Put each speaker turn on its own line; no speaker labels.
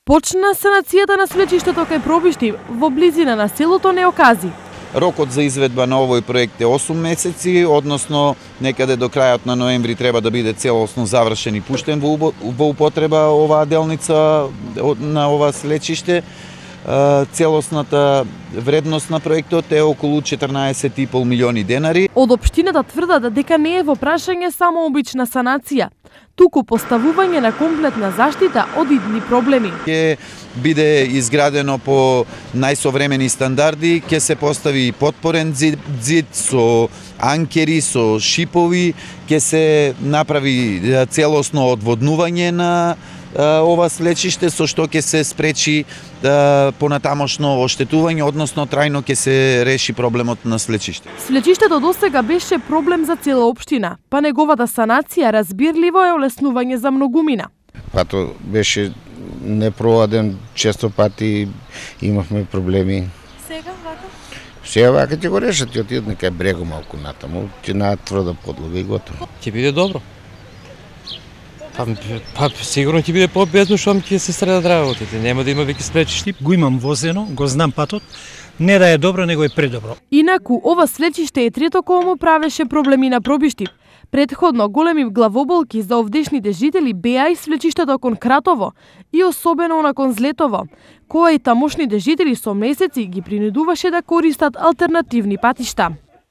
Почна санацијата на свлечиштето кај Пробишти во близина на селото Неокази.
Рокот за изведба на овој проект е 8 месеци, односно некаде до крајот на ноември треба да биде целосно завршен и пуштен во употреба оваа делница на ова свлечиште. Целосната вредност на проектот е околу 14,5 милиони денари.
Од општината тврдат дека не е во прашање само обична санација, туку поставување на комплетна заштита од идни проблеми.
Ќе биде изградено по најсовремени стандарди, ќе се постави подпорен зид со анкери, со шипови, ќе се направи целосно одводнување на ова свлечиште, со што ќе се спречи понатамошно оштетување, односно трајно ќе се реши проблемот на свлечиште.
Свлечиштето досега беше проблем за цела општина, па неговата санација разбирливо е олеснување за многумина.
Пато беше непроладен, често пати имавме проблеми. Сега вака ќе го решат и отидат некај брего малку натаму, ќе најдат тврда подлога и готово.
Ќе биде добро. Па сигурно ќе биде победно, што ќе се средат работите, нема да има веќе свлечишти.
Го имам возено, го знам патот, не да е добро, него е предобро.
Инаку, ова свлечиште е трето кое му правеше проблеми на Пробишти. Предходно големи главоболки за овдешните жители беа и свлечиштето кон Кратово и особено након Злетово, кое и тамошните жители со месеци ги принудуваше да користат алтернативни патишта.